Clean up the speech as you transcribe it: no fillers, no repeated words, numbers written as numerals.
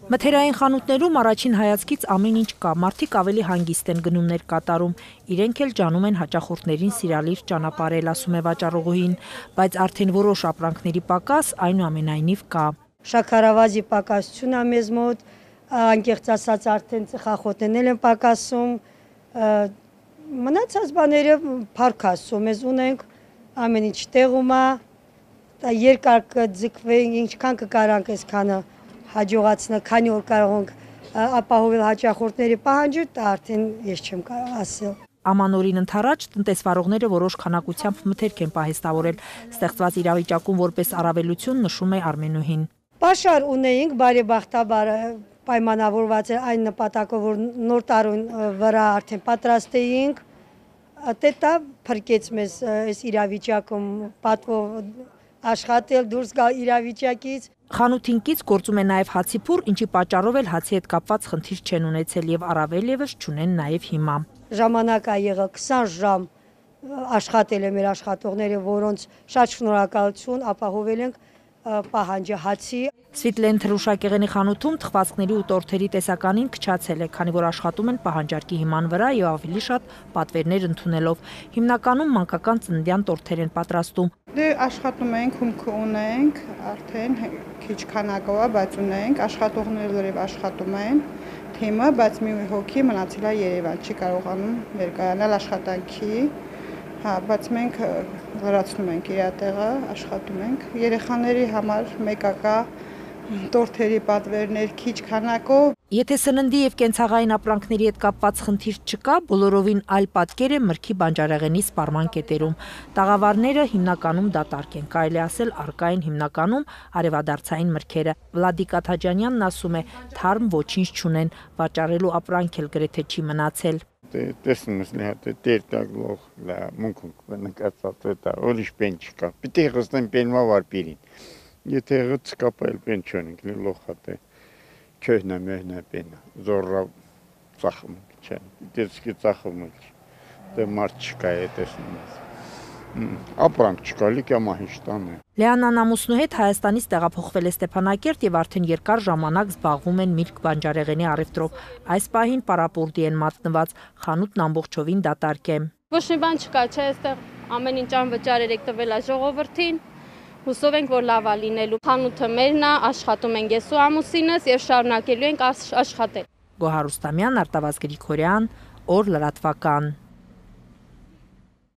Մթերային խանութներում առաջին հայացքից ամեն ինչ կա, մարդիկ ավելի հանգիստ են գնումներ կատարում, իրենք էլ ջանում են հաճախորդներին սիրալիր ճանապարհել, ասում է վաճառողուհին, բայց արդեն որոշ ապրանքների պակաս այնուամենայնիվ կա։ Շաքարավազի պակասություն է մեզ մոտ, անկեղծ ասած արդեն ծխախոտներն են պակասում, մնացած բաները փառք Աստծո մեզ ունենք, ամեն ինչ տեղում է, երկար կձգվենք, ինչքան կկարանք այսքանը հաջողացնել, քանի որ կարող ենք ապահովել հաճախորդների պահանջը, դա արդեն ես չեմ կարող ասել։ Ամանորին ընթരാճ տնտեսվարողները որոշ քանակությամբ մթերք են պահեստավորել, ստեղծված իրավիճակում որպես առավելություն նշում է Արմենուհին։ Պաշար ունեինք, բարեբախտաբար պայմանավորված էր այն նպատակով, որ նոր տարուն վրա արդեն պատրաստ էինք, դա փրկեց մեզ այս իրավիճակում պատվով աշխատել, դուրս գալ իրավիճակից։ Խանութին կից գործում է նաև հացիփուր, ինչի պատճառով էլ հացի հետ կապված խնդիր չեն ունեցել եւ առավել եւս չունեն նաև հիմա։ Ժամանակ է եղել 20 ժամ աշխատել է մեր աշխատողները, որոնց շատ շնորհակալություն, ապահովել ենք պահանջը հացի։ Սվիտլեն թրուշակեղենի խանութում թխվածքների ու տորթերի տեսականին քչացել է, քանի որ աշխատում են պահանջարկի հիման վրա եւ ավելի շատ պատվերներ ընդունելով։ Հիմնականում մանկական ծննդյան տորթեր են պատրաստում։ Աշխատում ենք, հումքը ունենք, արդեն քիչ քանակով է, բայց ունենք, աշխատողները լրիվ աշխատում են, թիմը, բայց մի հոգի մնացել է Երևան, չի կարողանում ներկայանալ աշխատանքի, բայց մենք լրացնում ենք իր տեղը, աշխատում ենք։ Երեխաների համար մեկակա տորթերի պատվերներ քիչ քանակով։ Եթե սննդի եւ կենցաղային ապրանքների հետ կապված խնդիր չկա, բոլորովին այլ պատկեր է մրգի բանջարեղենի սպառման կետերում։ Տաղավարները հիմնականում դատարկ են, կարելի ասել առկա են հիմնականում արևադարձային մրգերը։ Վլադիկ Աթաջանյանն ասում է, թարմ ոչինչ չունեն, վաճառելու ապրանք էլ գրեթե չի մնացել։ Տեսնում ես լիհատ տերտագլող լա մունք նկատած դա ուրիշ բան չկա։ Պիտի գստեն բենվա վարպիրին։ Եթե գծկապել բան չունենք լոխատե քյոհնա մեհնա բեն զորրա ծախում չէ։ Դեսկի ծախում դե մարդ չկա է տեսնում ես։ Ապրանք չկա լիքը մահիշտան է։ Լեանան ամուսնու հետ Հայաստանից տեղափոխվել է Ստեփանակերտ եւ արդեն երկար ժամանակ զբաղվում են միրգ բանջարեղենի առևտրով։ Այս պահին պարապուրդի են մատնված, խանութն ամբողջովին դատարկ է։ Ոչ մի բան չկա, չէ, այստեղ ամեն ինչ անվճար եք տվել է ժողովրդին։ Հուսով ենք, որ լավ է լինելու։ Խանութը մերն է, աշխատում ենք ես ու ամուսինս եւ շարունակելու ենք աշխատել։ Գոհար Ռուստամյան, Արտավազդ Գրիգորյան, Օր լրատվական։